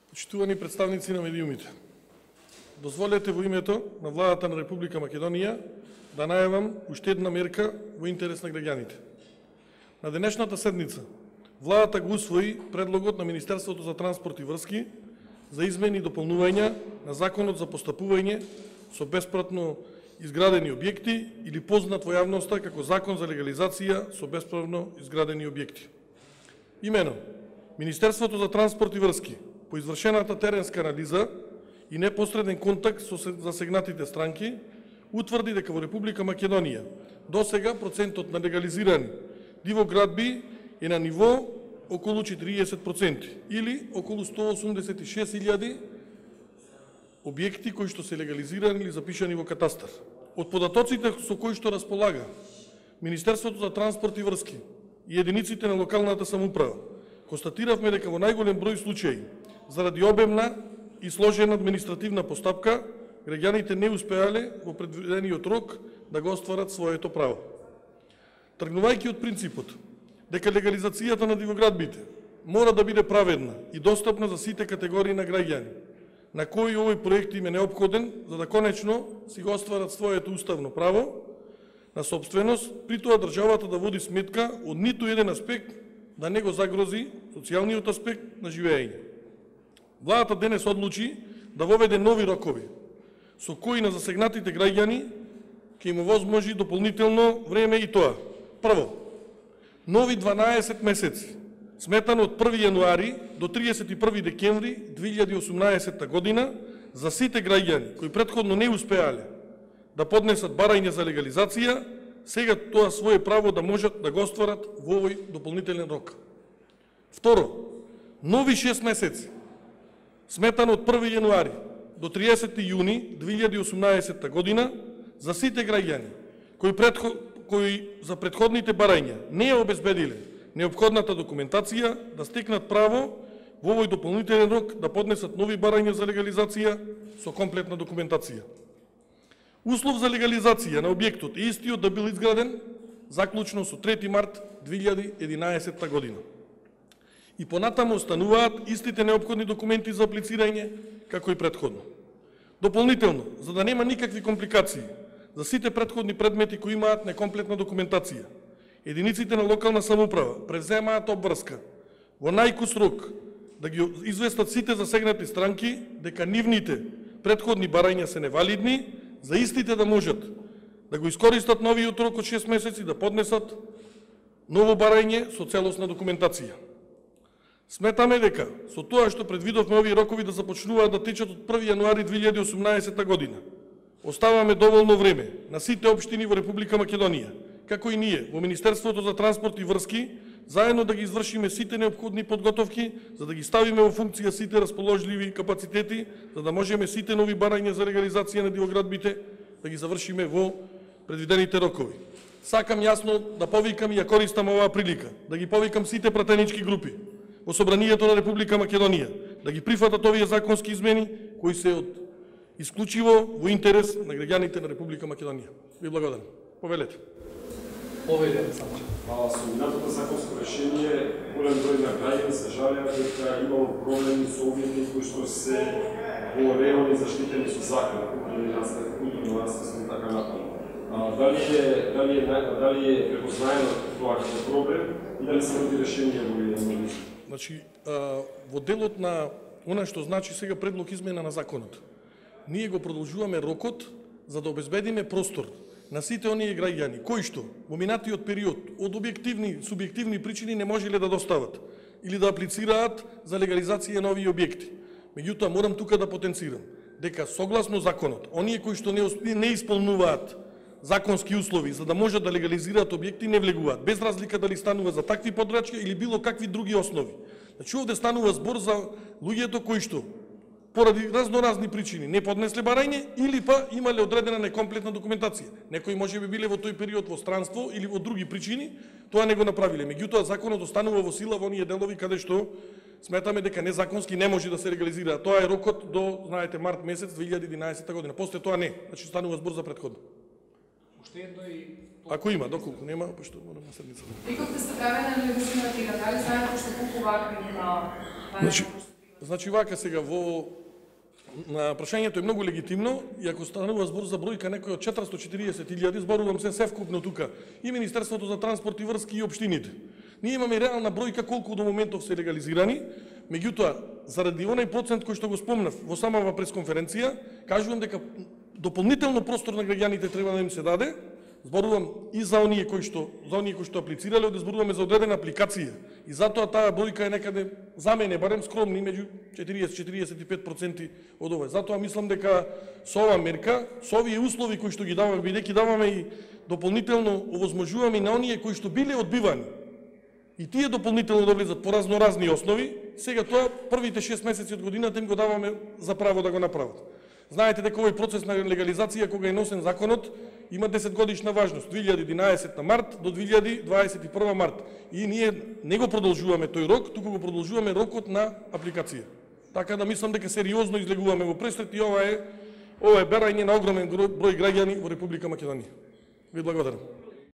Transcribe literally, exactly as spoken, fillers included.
Почитувани представници на медиумите, дозволете во името на Владата на Република Македонија да најавам уште една мерка во интерес на граѓаните. На денешната седница Владата го усвои предлогот на Министерството за транспорт и врски за измени и дополнување на Законот за постапување со бесправно изградени објекти или познат во јавноста како Закон за легализација со бесправно изградени објекти. Имено, Министерството за транспорт и врски по извршената теренска анализа и непосреден контакт со засегнатите странки утврди дека во Република Македонија досега процентот на легализирани дивоградби е на ниво околу четириесет проценти или околу сто осумдесет и шест илјади објекти кои што се легализирани или запишани во катастар. Од податоците со кои што располага Министерството за транспорт и врски и единиците на локалната самоуправа, констатиравме дека во најголем број случаи, заради обемна и сложена административна постапка, граѓаните не успеале во предвидениот рок да го остварат своето право. Тргнувајќи од принципот дека легализацијата на дивоградбите мора да биде праведна и достапна за сите категории на граѓани, на кои овој проект им е неопходен за да конечно си го остварат своето уставно право на собственост, при тоа државата да води сметка од ниту еден аспект да не го загрози социјалниот аспект на живење. Владата денес одлучи да воведе нови рокови, со кои на засегнатите граѓани ќе им овозможи дополнително време и тоа. Прво, нови дванаесет месеци, сметано од први јануари до триесет и први декември две илјади и осумнаесетта година, за сите граѓани кои претходно не успеале да поднесат барање за легализација, сега тоа свое право да можат да го остварат во овој дополнителен рок. Второ, нови шест месеци, сметано од први јануари до триесети јуни две илјади и осумнаесетта година, за сите граѓани кои, предход, кои за претходните барања не ја обезбедиле неопходната документација да стекнат право во овој дополнителен рок да поднесат нови барања за легализација со комплетна документација. Услов за легализација на објектот е истиот да бил изграден заклучно со трети март две илјади и единаесетта година. И понатаму остануваат истите неопходни документи за аплицирање како и претходно. Дополнително, за да нема никакви компликации за сите претходни предмети кои имаат некомплетна документација, единиците на локална самоуправа преземаат обврска во најкус рок да ги известат сите засегнати странки дека нивните претходни барања се невалидни, за истите да можат да го искористат новиот рок од шест месеци да поднесат ново барање со целосна документација. Сметаме дека со тоа што предвидовме овие рокови да започнуваат да течат од први јануари две илјади и осумнаесетта година, оставаме доволно време на сите општини во Република Македонија, како и ние во Министерството за транспорт и врски, заедно да ги извршиме сите неопходни подготовки, за да ги ставиме во функција сите расположливи капацитети, за да можеме сите нови барања за легализација на дивоградбите да ги завршиме во предвидените рокови. Сакам јасно да повикам и ја користам оваа прилика, да ги повикам сите пратенички групи во Собранието на Република Македонија, да ги прифатат овие законски измени кои се од исклучиво во интерес на граѓаните на Република Македонија. Ви благодарам. Повелете. Повелете само. А со минатото законско решение, голем број на граѓани се жалеа дека имало проблеми со објекти кои што се во райони заштитени со закон, културни наследство и така натаму. Дали е дали е дали е препознаено тоа како проблем и дали се роди решение во овие анализи? Значи, во делот на она што значи сега предлог измена на законот, ние го продолжуваме рокот за да обезбедиме простор на сите оние граѓани кои што во минатиот период од објективни, субјективни причини не можеле да достават или да аплицираат за легализација на овие објекти. Меѓутоа, морам тука да потенцирам дека согласно законот, оние кои што не, не исполнуваат законски услови за да можат да легализираат објекти не влегуваат, без разлика дали станува за такви подрачки или било какви други основи. Значи, овде станува збор за луѓето кои што поради разноразни причини не поднесле барање или па имале одредена некомплетна документација. Некои може би биле во тој период во странство или во други причини, тоа не го направиле. Меѓутоа, законот останува во сила во оние делови каде што сметаме дека незаконски не може да се легализира. Тоа е рокот до, знаете, март месец две илјади и единаесетта година. После тоа не. Значи, станува збор за претходно. Уште едно и Ако има, доколку нема, пошто морам на седница. И како сте правени анализи на тие, дали знаете што купува на Значи, Значи вака сега во на прашањето е многу легитимно и ако станува збор за бројка некој од четиристо и четириесет илјади, зборувам се севкупно тука и Министерството за транспорт и врски и општините. Ние имаме реална бројка колку до моментов се легализирани, меѓутоа заради онај процент кој што го спомнав во самава пресконференција, кажувам дека дополнително простор на граѓаните треба да им се даде. Зборувам и за оние кои што за оние кои што аплицирале, да зборуваме за одредена апликација. И затоа таа бројка е некаде за мене барем скромни меѓу четириесет до четириесет и пет проценти од ова. Затоа мислам дека со оваа мерка, со овие услови кои што ги даваме, бидејќи даваме и дополнително овозможуваме на оние кои што биле одбивани и тие дополнително да влезат по разноразни основи, сега тоа првите шест месеци од годината им го даваме за право да го направат. Знаете дека овој процес на легализација кога е носен законот има десет годишна важност, две илјади и единаесетта март до две илјади дваесет и прва март. И ние не го продолжуваме тој рок, туку го продолжуваме рокот на апликација. Така да мислам дека сериозно излегуваме во пресрет и ова е ова е барање на огромен број граѓани во Република Македонија. Ви благодарам.